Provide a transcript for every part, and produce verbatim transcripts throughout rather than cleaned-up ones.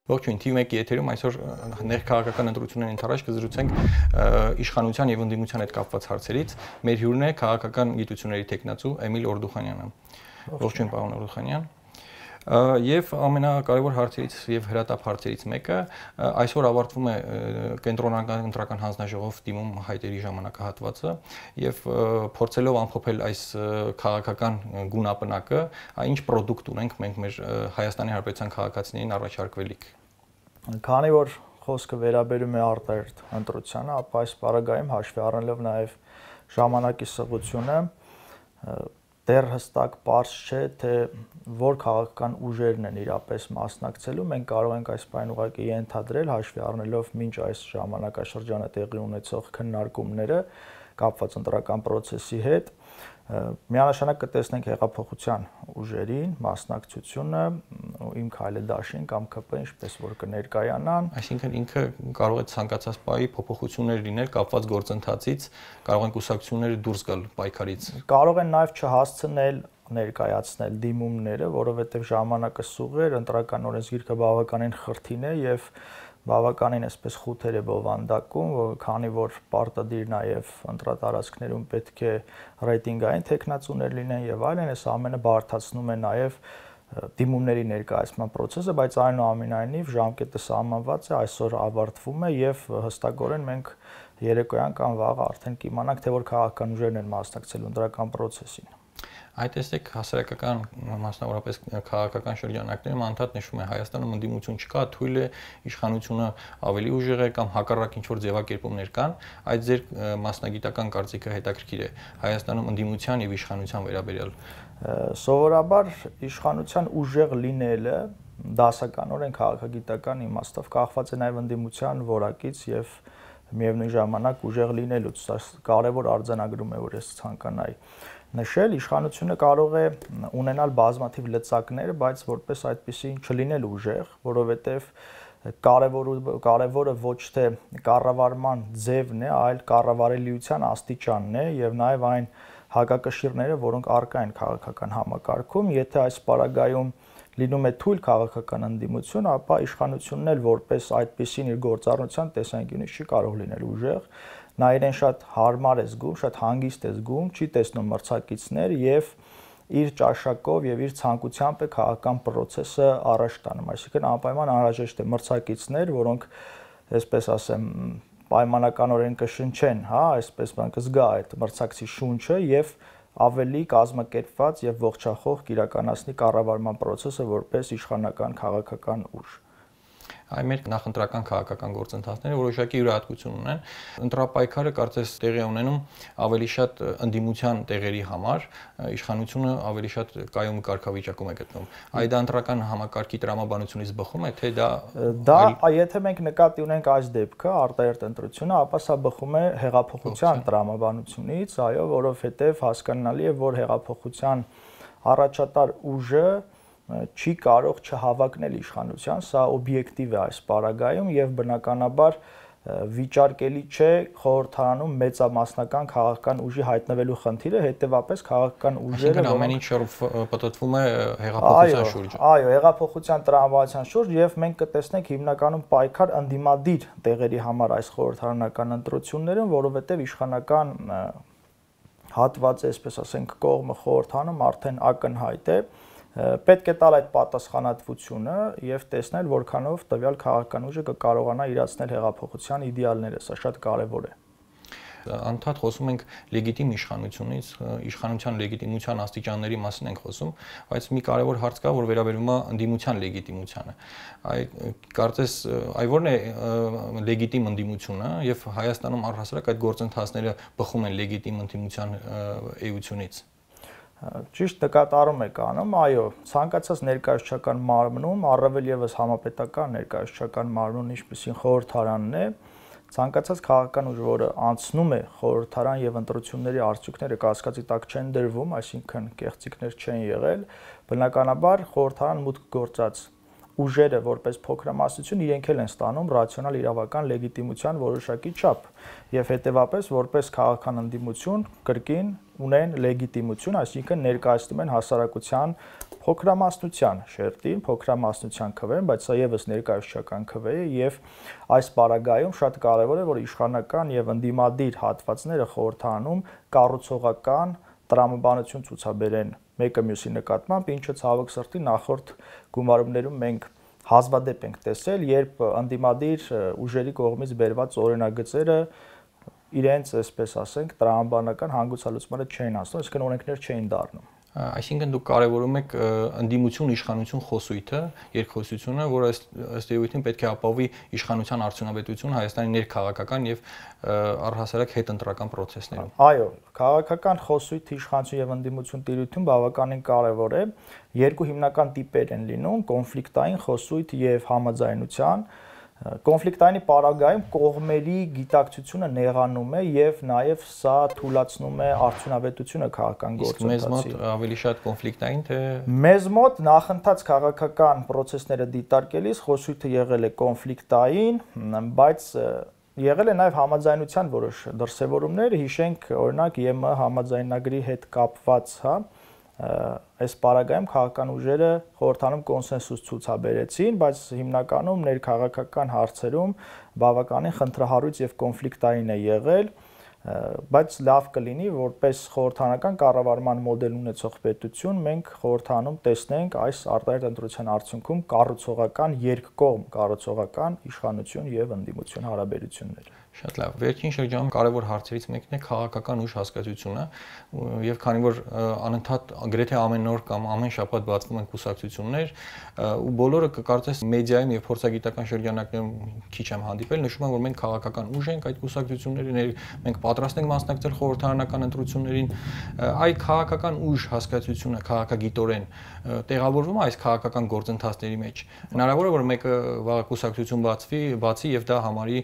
Ողջույն, թիվ մեկի եթերում այսօր ներքաղաքական ընտրությունների ընթരാճ կզրուցենք իշխանության եւ ընդդիմության հետ կապված հարցերից։ Մեր հյուրն է քաղաքական գիտությունների թեկնածու Էմիլ Օրդուխանյանը։ Ողջույն, պարոն Օրդուխանյան։ Եվ ամենակարևոր հարցերից եւ հրատապ հարցերից մեկը այսօր ավարտվում է կենտրոնական ընտրական հանձնաժողով դիմում հայտերի ժամանակահատվածը եւ փորձելով ամփոփել այս քաղաքական գունապնակը, ինչ պրոդուկտ ունենք մենք մեր Հայաստանի Հանրապետության քաղաքացիներին առաջարկվելիք։ Քանի որ խոսքը վերաբերում է արտահերթ ընտրությանը, ապա այս պարագայում հաշվի առնելով նաեւ ժամանակի սղությունը դեռ հստակ պարզ չէ, թե որ քաղաքական ուժերն են իրապես մասնակցելու, մենք կարող ենք այս բանը ուղղակի ենթադրել, հաշվի առնելով մինչ այս ժամանակաշրջանը տեղի ունեցող քննարկումները կապված ընտրական process-ի հետ, միանշանակ կտեսնենք հեղափոխության ուժերին մասնակցությունը, իմ քայլեդաշին կամ ԿՊ, ինչպես որ կներկայանան, այսինքն ինքը կարող է ցանկացած պահի փոփոխություններ լինել կապված գործընթացից, կարող են կուսակցությունները դուրս գալ պայքարից։ Կարող են նաև չհասցնել ներկայացնել դիմումները, որովհետև ժամանակը սուղ էր, ընտրական օրենսգիրքը բավականին խրթին է եւ բավականին այսպես խութեր է բովանդակում, քանի որ պարտադիր նաև ընտրատարածքներում պետք է ռեյտինգային տեխնացուներ լինեն եւ այլն, այս ամենը բարդացնում է նաև դիմումների ներկայացման process-ը, բայց այնուամենայնիվ ժամկետը սահմանված է, այսօր ավարտվում է եւ հստակորեն մենք երեկոյան կամ վաղ արդեն կիմանանք, թե որ քաղաքական ուժերն են մասնակցելու ընտրական process-ին։ Այդ տեսեք հասարակական, մասնավորապես քաղաքական շրջանակներում անդադ նշվում է Հայաստանում ընդդիմություն չկա, թույլ է իշխանությունը ավելի ուժեղ է կամ հակառակ ինչ-որ ձևակերպումներ կան, այդ ձեր մասնագիտական կարծիքը հետաքրքիր է Հայաստանում ընդդիմության եւ իշխանության վերաբերյալ։ Սովորաբար իշխանության ուժեղ լինելը դասականորեն քաղաքագիտական իմաստով կախված է նաեւ ընդդիմության որակից եւ միևնույն ժամանակ ուժեղ լինելուց, սա կարևոր արձանագրում է, որ ես ցանկանայի նշել, իշխանությունը կարող է ունենալ բազմաթիվ լծակներ, բայց որպես այդպեսին չլինել ուժեղ, որովհետև կարևորը ոչ թե կառավարման ձևն է, այլ կառավարելիության աստիճանն է եւ նաեւ այն հակակշիռները, որոնք առկա են քաղաքական համակարգում, եթե այս պարագայում լինում է թույլ քաղաքական ընդդիմություն, ապա իշխանությունն էլ որպես այդպեսին իր գործառնության տեսանկյունից չի կարող լինել ուժեղ, նա իրեն շատ հարմար է զգում, շատ հանգիստ է զգում, չի տեսնում մրցակիցներ եւ իր ճաշակով եւ իր ցանկությամբ է քաղաքական process-ը առաջ տանում, այսինքն անպայման անհրաժեշտ է մրցակիցներ, որոնք, այսպես ասեմ, պայմանականորեն կշնչեն, հա, այսպես բան կզգա այդ մրցակցի շունչը եւ ավելի կազմակերպված եւ ողջախոհ կիրականացնի կառավարման process-ը որպես իշխանական քաղաքական ուժ։ Այ մեր նախընտրական քաղաքական գործընթացները որոշակի յուրահատկություն ունեն։ Ընտրապայքարը կարծես տեղի ունենում ավելի շատ ընդդիմության տեղերի համար, իշխանությունը ավելի շատ կայուն կարգավիճակում է գտնվում։ Այ դա ընտրական համակարգի տրամաբանությունից բխում է, թե դա դա եթե մենք նկատի ունենք այս դեպքը, արտահերթ ընտրությունը, ապա սա բխում է հեղափոխության տրամաբանությունից, այո, որովհետև հասկանալի է, որ հեղափոխության առաջատար ուժը չի կարող չհավակնել իշխանության, սա օբյեկտիվ է այս պարագայում եւ բնականաբար վիճարկելի չէ խորհրդարանում մեծամասնական քաղաքական ուժի հայտնվելու խնդիրը, հետեւապես քաղաքական ուժերը ամեն ինչ պատտվում է հեղափոխության շուրջ։ Այո, հեղափոխության տրամաբանության շուրջ եւ մենք կտեսնենք հիմնականում պայքար ընդդիմադիր տեղերի համար այս խորհրդարանական ընտրություններում, որովհետեւ իշխանական հատվածը, այսպես ասենք, կողմը խորհրդանում արդեն ակնհայտ է։ Պետք է տալ այդ պատասխանատվությունը եւ տեսնել, որքանով տվյալ քաղաքական ուժը կկարողանա իրացնել հեղափոխության իդեալները, սա շատ կարեւոր է։ Անդադ խոսում ենք լեգիտիմ իշխանությունից, իշխանության լեգիտիմության աստիճանների մասին ենք խոսում, բայց մի կարևոր հարց կա, որ վերաբերում է ընդդիմության լեգիտիմությանը։ Այ կարծես այ ո՞րն է լեգիտիմ ընդդիմությունը եւ Հայաստանում առհասարակ այդ գործընթացները բխում են լեգիտիմ ընդդիմության էությունից։ Ճիշտ նկատառում եք անում, այո, ցանկացած ներկայացչական մարմնում, առավել եւս համապետական ներկայացչական մարմնում, ինչպեսին խորհրդարանն է, ցանկացած քաղաքական ուժ, որը անցնում է խորհրդարան եւ ընտրությունների արդյունքները կասկածի տակ չեն դրվում, այսինքն կեղծիքներ չեն եղել, բնականաբար խորհրդարան մուտք գործած ուժերը որպես փոքրամասնություն իրենք էլ են ստանում ռացիոնալ իրավական լեգիտիմության որոշակի չափ եւ հետեւապես որպես քաղաքական ընդդիմություն կրկին ունեն լեգիտիմություն, այսինքն ներկայացնում են հասարակության փոքրամասնության շերտին, փոքրամասնության քվեն, բայց սա եւս ներկայացչական քվե է եւ այս պարագայում շատ կարեւոր է, որ իշխանական եւ ընդդիմադիր հատվածները խորհրդանում կառուցողական տրամաբանություն ցուցաբերեն մեկը մյուսի նկատմամբ, ինչը ցավոք սրտի նախորդ գումարումներում մենք հազվադեպ ենք տեսել, երբ ընդդիմադիր ուժերի կողմից բերված օրինագծերը իրենց, այսպես ասենք, տրամաբանական հանգուցալուծմանը չէին հասնում, այսինքն օրենքներ չէին դառնում։ Այսինքն դուք կարևորում եք ընդդիմություն իշխանություն խոսույթը, երկխոսությունը, որը ըստ էության պետք է ապահովի իշխանության արդյունավետությունը Հայաստանի ներքաղաքական եւ առհասարակ հետընտրական process-ներում։ Այո, քաղաքական խոսույթ, իշխանություն եւ ընդդիմություն տիրույթում բավականին կարևոր է։ Երկու հիմնական տիպեր են լինում՝ կոնֆլիկտային խոսույթ եւ համաձայնության։ Կոնֆլիկտային պարագայում կողմերի գիտակցությունը նեղանում է եւ նաեւ սա թույլատնում է արդյունավետությունը քաղաքական գործընթացի։ Մեզ մոտ ավելի շատ կոնֆլիկտային թե Մեզ մոտ նախընթաց քաղաքական process-ները դիտարկելիս խոսույթը եղել է կոնֆլիկտային, բայց եղել է նաեւ համաձայնության որոշ դրսևորումներ, հիշենք օրինակ ԵՄ համաձայնագրի հետ կապված, հա, այս պարագայում քաղաքական ուժերը խորհրդանում կոնսենսուս ցուցաբերեցին, բայց հիմնականում ներքաղաքական հարցերում բավականին խնդրահարույց եւ կոնֆլիկտային է եղել, բայց լավ կլինի, որպես խորհրդանական կառավարման մոդել ունեցող պետություն մենք խորհրդանում տեսնենք այս արտահայտ ընտրության արդյունքում կառուցողական երկկողմ կառուցողական իշխանություն եւ ընդդիմություն հարաբերություններ։ Շատ լավ։ Վերջին շրջանում կարևոր հարցերից մեկն է քաղաքական ուժ հասկացությունը, եւ քանի որ անընդհատ գրեթե ամեն օր կամ ամեն շաբաթ բացվում են կուսակցություններ, ու բոլորը կկարծես մեդիայում եւ փորձագիտական շրջանակներում քիչ եմ հանդիպել, նշում են, որ մենք քաղաքական ուժ ենք այդ կուսակցությունների, մենք պատրաստ ենք մասնակցել խորհրդարանական ընտրություններին, այդ քաղաքական ուժ հասկացությունը քաղաքագիտորեն տեղավորվում է այս քաղաքական գործընթացների մեջ։ Հնարավոր է, որ մեկը վաղ կուսակցություն բացվի, բացի եւ դա համարի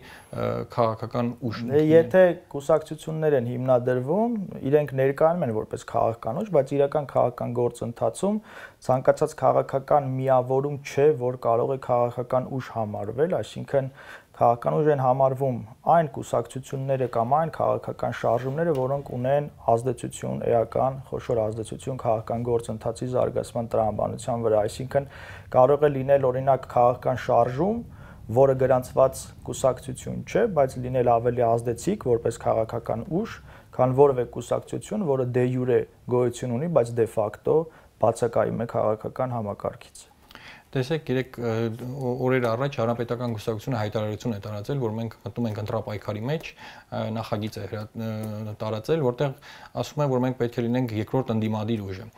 քաղաքական ուժ։ Եթե կուսակցություններ են հիմնադրվում, իրենք ներկայանում են որպես քաղաքական ուժ, բայց իրական քաղաքական գործընթացում ցանկացած քաղաքական միավորում չէ, որ կարող է քաղաքական ուժ համարվել, այսինքն քաղաքական ուժ են համարվում այն կուսակցությունները կամ այն քաղաքական շարժումները, որոնք ունեն ազդեցություն, էական, խոշոր ազդեցություն քաղաքական գործընթացի զարգացման տրամաբանության վրա, այսինքն կարող է լինել օրինակ քաղաքական շարժում, որը գրանցված կուսակցություն չէ, բայց լինել ավելի ազդեցիկ որպես քաղաքական ուժ, քան որևէ կուսակցություն, որը դե յուրե գոյություն ունի, բայց դե ֆակտո բացակայում է քաղաքական համակարգից։ Տեսեք, երեք օրեր առաջ Հանրապետական կուսակցությունը հայտարարություն է տարածել, որ մենք մտնում ենք ընտրապայքարի մեջ, նախագիծ է տարածել, որտեղ ասում է, որ մենք պետք է լինենք երկրորդ ընդդիմադիր ուժը։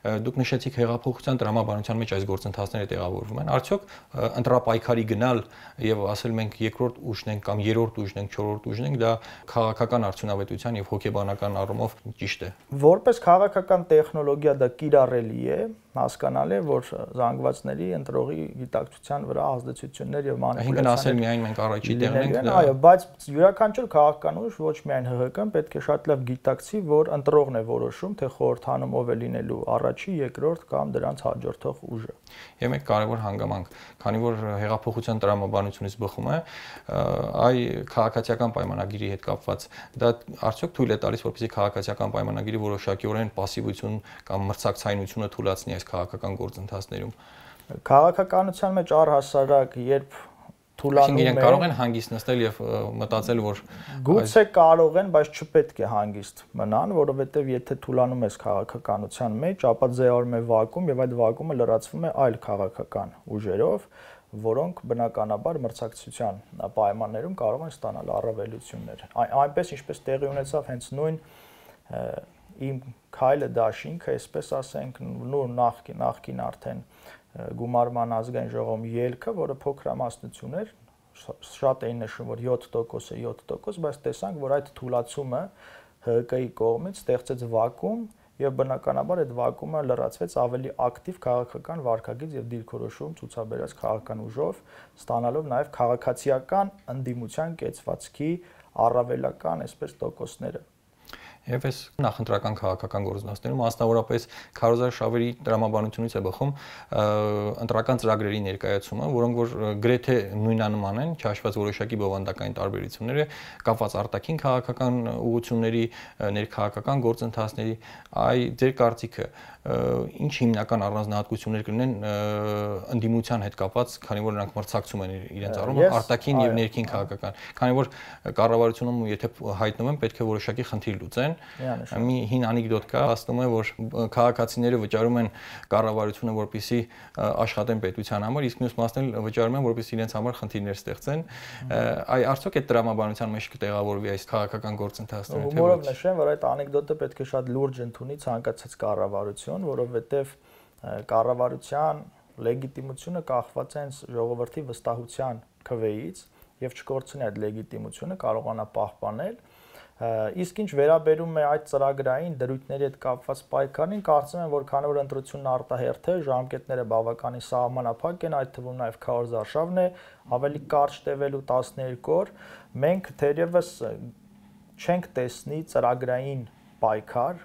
Դուք նշեցիք հեղափոխության տրամաբանության մեջ այս գործընթացները տեղավորվում են։ Արդյոք ընտրապայքարի գնալ եւ ասել մենք երկրորդ ուժն ենք կամ երրորդ ուժն ենք, չորրորդ ուժն ենք, դա քաղաքական արդյունավետության եւ հոգեբանական առումով ճիշտ է։ Որպես քաղաքական տեխնոլոգիա դա կիրառելի է, հասկանալ է, որ զանգվածների ընտրողի գիտակցության վրա ազդեցություններ եւ մանիպուլյացիաներ։ Այսինքն ասել միայն մենք առաջի տեղն ենք, դա։ Այո, բայց յուրաքանչյուր քաղաքական ուժ, ոչ միայն ՀՀԿ-ն, պետք է շատ լավ գիտակցի, որ ընտրողն է որոշում, թե խորհրդանում ով է լինելու առաջի, երկրորդ կամ դրանց հաջորդող ուժը։ Եվ մեկ կարևոր հանգամանք, քանի որ հեղափոխության տրամաբանությունից բխում է, այ քաղաքացիական պայմանագիրի հետ կապված, դա արդյոք թույլ է տալիս, որպեսզի քաղաքացիական պայմանագիրը որոշակիորեն пассивություն կամ մրցակցայնությունը թույլատնի այս քաղաքական գործընթացներում։ Քաղաքականության մեջ առհասարակ, երբ թուլանում են, կարող են հանգիստ նստել եւ մտածել, որ գուցե կարող են, բայց չպետք է հանգիստ մնան, որովհետեւ եթե թուլանում ես քաղաքականության մեջ, ապա ձևավորվում է վակուում եւ այդ վակումը լրացվում է այլ քաղաքական ուժերով, որոնք բնականաբար մրցակցության պայմաններում կարող են ստանալ առավելություններ։ Այնպես ինչպես տեղի ունեցավ հենց նույն իմ քայլը դաշինքը, այսպես ասենք, նոր նախքին նախքին արդեն գումարման ազգային ժողովում ելքը, որը փոքրամասնություն էր, շատ էին նշում, որ յոթ տոկոս է յոթ տոկոս, բայց տեսանք, որ այդ թուլացումը ՀԿ-ի կողմից ստեղծեց վակուում եւ բնականաբար այդ վակուումը լրացվեց ավելի ակտիվ քաղաքական վարքագիծ եւ դիրքորոշում ցուցաբերած քաղաքական ուժով, ստանալով նաեւ քաղաքացիական ընդդիմության կեցվածքի առավելական այսպես տոկոսները։ Եվ այս նախընտրական քաղաքական գործընթացներում մասնավորապես քարոզար շավերի տրամաբանությունից է բխում ընտրական ծրագրերի ներկայացումը, որոնք որ գրեթե նույնանման են, չհաշված որոշակի բովանդակային տարբերությունները, կապված արտաքին քաղաքական ուղղությունների, ներքաղաքական գործընթացների, այ ձեր կարծիքը ինչ հիմնական առանձնահատկություններ կլինեն ընդդիմության հետ կապված, քանի որ նրանք մրցակցում են իրենց առումով արտաքին եւ ներքին քաղաքական, քանի որ կառավարությունում եթե հայտնվում են, պետք է որոշակի խնդիր լուծեն։ Մի հին անեկդոտ կա, ասում է, որ քաղաքացիները վճարում են կառավարությունը, որպեսզի աշխատեն պետության համար, իսկ մյուս մասն էլ վճարում են, որպեսզի իրենց համար խնդիրներ ստեղծեն։ Այ արդյոք այդ տրամաբանության մեջ կտեղավորվի այս քաղաքական գործընթացները, թե ոչ։ Որով նշեմ, որ այդ անեկդոտը պետք է շատ լուրջ ընդունի ցանկացած կառավարություն, որովհետև կառավարության լեգիտիմությունը կախված է ժողովրդի վստահության քվեից եւ չկորցնի այդ լեգիտիմությունը, կարողանա պահպանել։ Իսկ ինչ վերաբերում է այդ ծրագրային դրույթների հետ կապված պայքարին, կարծում եմ, որ քանի որ ընտրությունն արտահերթ է, ժամկետները բավականին սահմանափակ են, այդ թվում նաեւ քարոզար արշավն է, ավելի կարճ տևելու տասներկու օր, մենք թերևս չենք տեսնի ծրագրային պայքար,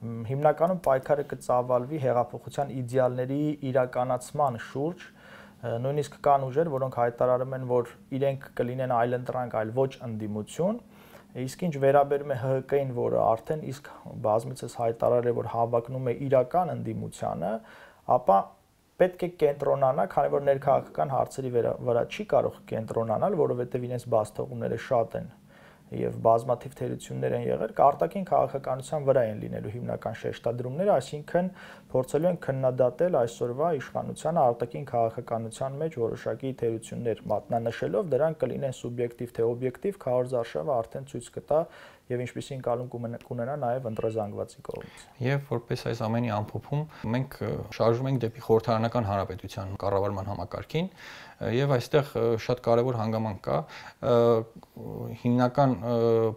հիմնականում պայքարը կծավալվի հեղափոխության իդեալների իրականացման շուրջ, նույնիսկ կան ուժեր, որոնք հայտարարում են, որ իրենք կլինեն այլընտրանք, այլ ոչ ընդդիմություն, իսկ ինչ վերաբերում է Հ Հ K-ին, որը արդեն իսկ բազմիցս հայտարարել է, որ հավակնում է իրական ընդդիմությանը, ապա պետք է կենտրոնանա, քանի որ ներքաղաքական հարցերի վրա չի կարող կենտրոնանալ, որովհետև իրենց բացթողումները շատ են եւ բազմաթիվ թերություններ են եղել, արտաքին քաղաքականության վրա են լինելու հիմնական շեշտադրումները, այսինքն փորձելու են քննադատել այսօրվա իշխանությանը արտաքին քաղաքականության մեջ որոշակի թերություններ մատնանշելով, դրանք կլինեն սուբյեկտիվ թե օբյեկտիվ, քարոզար արշավը արդեն ցույց կտա եւ ինչպիսին կալուն կունենա նաեւ ընտրազանգվածի կողմից։ Եվ որպես այս ամենի ամփոփում մենք շարժվում ենք դեպի խորհրդարանական հանրապետության կառավարման համակարգին եւ այստեղ շատ կարեւոր հանգամանք կա հիմնական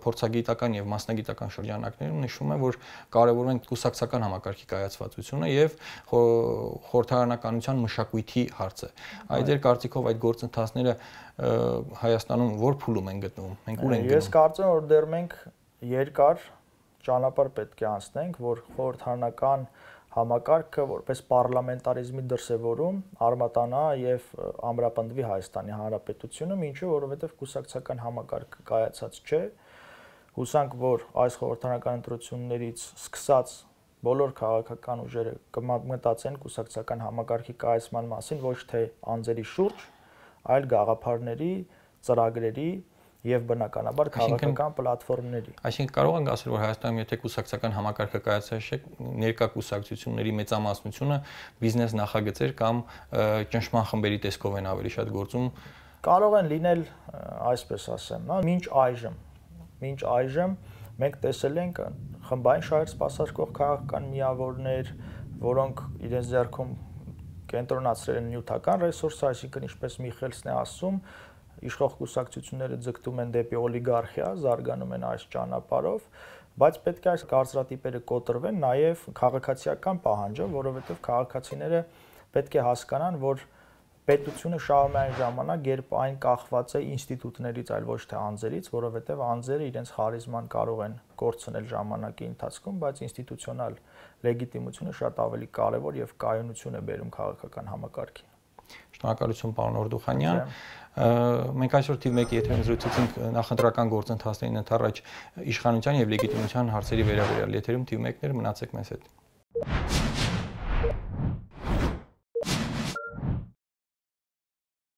փորձագիտական եւ մասնագիտական շրջանակներում նշվում է, որ կարևորում են կուսակցական համակարգի կայացվածությունը եւ խորհրդարանականության մշակույթի հարցը։ Այդ ձեր կարծիքով այդ գործընթացները Հայաստանում որ փուլում են գտնվում։ Մենք ուր ենք գնում։ Ես կարծում եմ, որ դեռ մենք երկար ճանապարհ պետք է անցնենք, որ խորհրդարանական համակարգը որպես պարլամենտարիզմի դրսևորում արմատանա եւ ամրապնդվի Հայաստանի Հանրապետությունում, ինչու որովհետեւ կուսակցական համակարգը կայացած չէ։ Հուսանք, որ այս խորհրդարանական ընտրություններից սկսած բոլոր քաղաքական ուժերը կմտածեն կուսակցական համակարգի կայացման մասին ոչ թե անձերի շուրջ, այլ գաղափարների, ծրագրերի եւ բնականաբար քաղաքական պլատֆորմների։ Այսինքն կարող ենք ասել, որ Հայաստանում եթե կուսակցական համակարգը կայացած չէ, ներկա կուսակցությունների մեծամասնությունը բիզնես նախագծեր կամ ճնշման խմբերի տեսքով են ավելի շատ գործում։ Կարող են լինել, այսպես ասեմ, նա մինչ այժմ, մինչ այժմ մենք տեսել ենք խմբային շահեր սպասարկող քաղաքական միավորներ, որոնք իրենց ձեռքում կենտրոնացրել են նյութական ռեսուրսը, այսինքն ինչպես Միխելսն է ասում, իշխող կուսակցությունները ձգտում են դեպի օլիգարխիա, զարգանում են այս ճանապարհով, բայց պետք է այս կարծրատիպերը կոտրվեն նաև քաղաքացիական պահանջով, որովհետև քաղաքացիները պետք է հասկանան, որ պետությունը շահում է այն ժամանակ, երբ այն կախված է ինստիտուտներից, այլ ոչ թե անձերից, որովհետև անձերը իրենց խարիզման կարող են կորցնել ժամանակի ընթացքում, բայց ինստիտուցիոնալ լեգիտիմությունը շատ ավելի կարևոր եւ կայունություն է բերում քաղաքական համակարգին։ Շնորհակալություն, պարոն Օրդուխանյան։ Մենք այսօր թիվ մեկի եթերում զրուցեցինք նախընտրական գործընթացներին ընդառաջ իշխանության եւ լեգիտիմության հարցերի վերաբերյալ։ Եթերում թիվ մեկներ, մնացեք մեզ հետ։